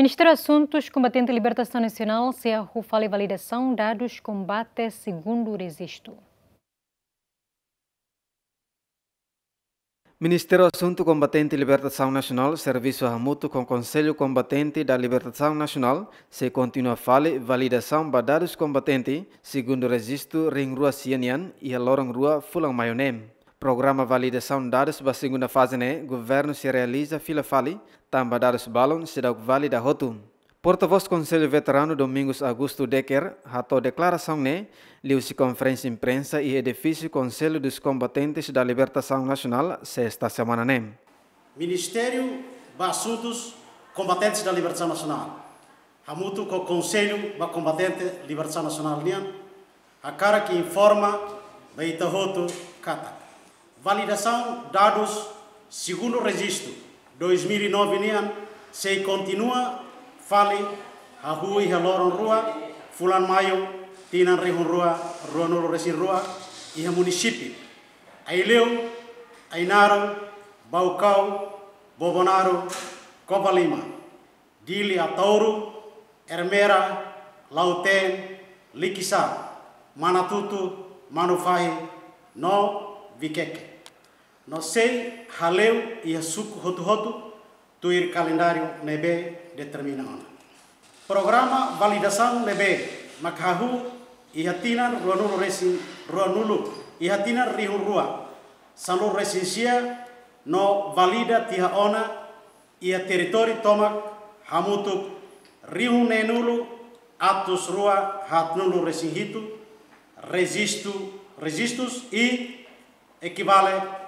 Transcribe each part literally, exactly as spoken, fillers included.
Ministériu Asuntus Kombatente Libertasaun Nasionál sei halo fali validasaun dadus kombate segundu rejistu. Ministériu Asuntu Kombatente Libertasaun Nasionál servisu hamutuk ho Konsellu Kombatente da Libertasaun Nasionál sei kontinua fali validasaun ba dadus kombatente segundu rejistu rihun rua sia nian iha loron rua fulan maiu ne'e. Programa validasaun dadus ba segunda faze ne'e governu sei realiza fila fali, tanba dadus balun seidauk valida hotu. Portavós Konsellu Veteranu Domingos Augusto Decker hato'o deklarasaun ne'e liuhusi konferénsia imprensa iha edifísiu Conselho dos Combatentes da Libertação Nacional, sesta semana ne'e. Ministériu ba Asuntus Kombatentes da Libertasaun Nasionál hamutuk ho Konsellu ba Kombatente Libertasaun Nasionál nian hakarak informa ba ita hotu katak validasaun dadus segundu rejistu dois mil e nove nian sei kontinua fali hahú iha loron rua fulan maiu tinan rihun rua ruanulu resin rua iha munisípiu Aileu, Ainaro, Baucau, Bobonaro, Covalima, Dili Ataúro, Ermera, Lautém, Likisá, Manatuto, Manufahi, no Viqueque. No sei haleu iha suku hotu-hotu tuir kalendáriu ne'ebé determina ona. Programa validasaun ne'ebé mak hahú iha tinan ruanulu resin ruanulu, iha tinan rihun rua sanulu resin sia no valida tiha ona iha territóriu tomak hamutuk rihun neenulu atus rua haatnulu resin hitu rejistu, rejistus i ekivale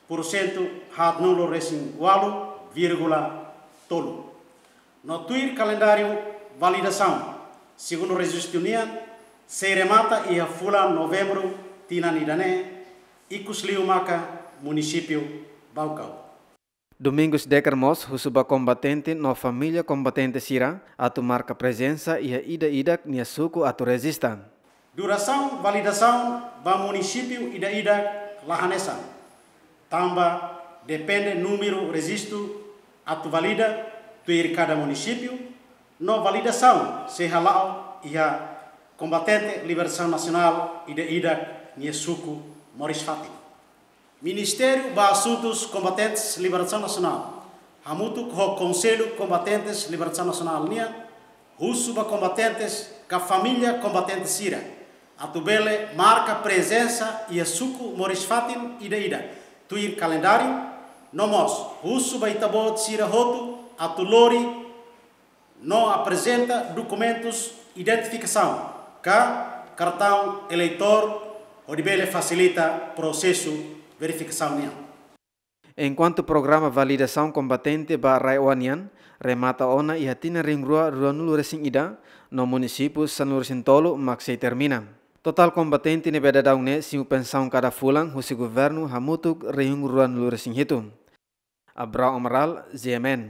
pursentu haatnulu resin ualu vírgula tolu. No tuir kalendáriu validasaun segundu rejistu nian sei remata iha fulan Novembru tinan ida-ne'e, ikusliu maka munisípiu Baucau. Domingos Decker mós husu ba kombatente no família kombatente sira atu marka prezensa iha ida-idak nia suku atu rejista. Durasaun validasaun ba munisípiu ida-idak la hanesan, tanba depende númeru rejistu atu valida tuir kada munisípiu, no validasaun sei hala'o iha kombatente libertasaun nasionál ida-idak nia suku moris-fatin. Ministériu ba Asuntus Kombatentes Libertasaun Nasionál hamutuk ho Konsellu Kombatentes Libertasaun Nasionál nian husu ba kombatentes ka família kombatente sira atu bele marka prezensa iha suku moris-fatin ida-idak tuir kalendáriu, no mós husu ba ita-boot sira hotu atu lori no aprezenta dokumentus identifikasaun ka kartaun eleitór hodi bele fasilita prosesu verifikasaun nian. Enkuantu programa validasaun kombatente ba RAEOA nian remata ona iha tinan rihun rua ruanulu resin ida, no munisípiu sanulu resin tolu mak sei termina. Totál kombatente ne'ebé daudaun ne'e simu pensaun kada fulan husi governu hamutuk rihun ruanulu resin hitu. Abrão Amaral, G M N.